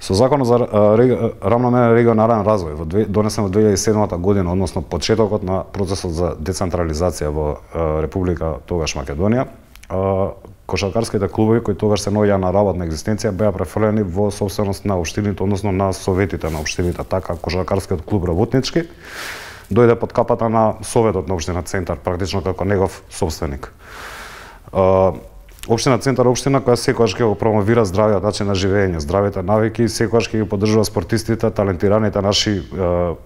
Со Законот за рамномерен регионален развој, донесен во 2007 година, односно почетокот на процесот за децентрализација во Република тогаш Македонија, кошаркарските клубови кои тогаш се наоѓаа на работна екзистенција беа префрлени во собственост на општините, односно на советите на општините. Така кошаркарскиот клуб Работнички дојде под капата на Советот на општина Центар, практично како негов собственик. Општина Центар е општина која секогаш ќе го промовира здравиот начин на живење, здравите навики, секогаш ќе ги поддржува спортистите, талентираните наши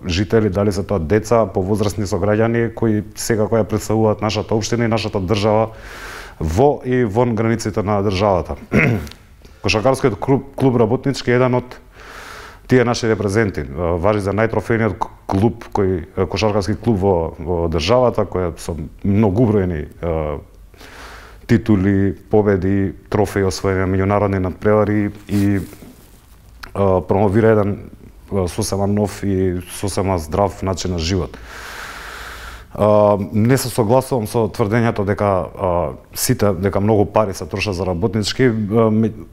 жители, дали се тоа деца, повозрастни сограѓани кои секако ја представуваат нашата општина и нашата држава во и вон границите на државата. Кошаркарскиот клуб Работнички е еден од тие наши репрезенти. Важи за најтрофејниот клуб кошаркарски клуб во државата, кој со многубројни титули, победи, трофеи освоени на меѓународни надпревари и промовира еден сосема нов и сосема здрав начин на живот. Не се согласувам со тврдењето дека многу пари се трошат за Работнички.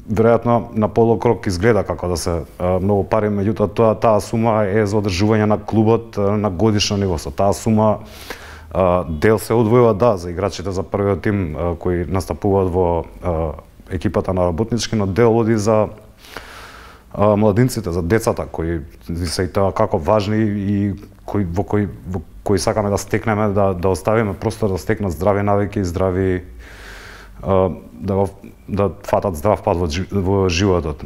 Веројатно на полукрок изгледа како да се многу пари, меѓутоа таа сума е за одржување на клубот на годишно ниво. Со таа сума дел се одвојува за играчите за првиот тим кои настапуваат во екипата на Работнички, но дел оди за младинците, за децата кои се и тоа како важни и во кои сакаме да стекнеме, да оставиме простор да стекнат здрави навики и здрави да фатат здрав пат во животот.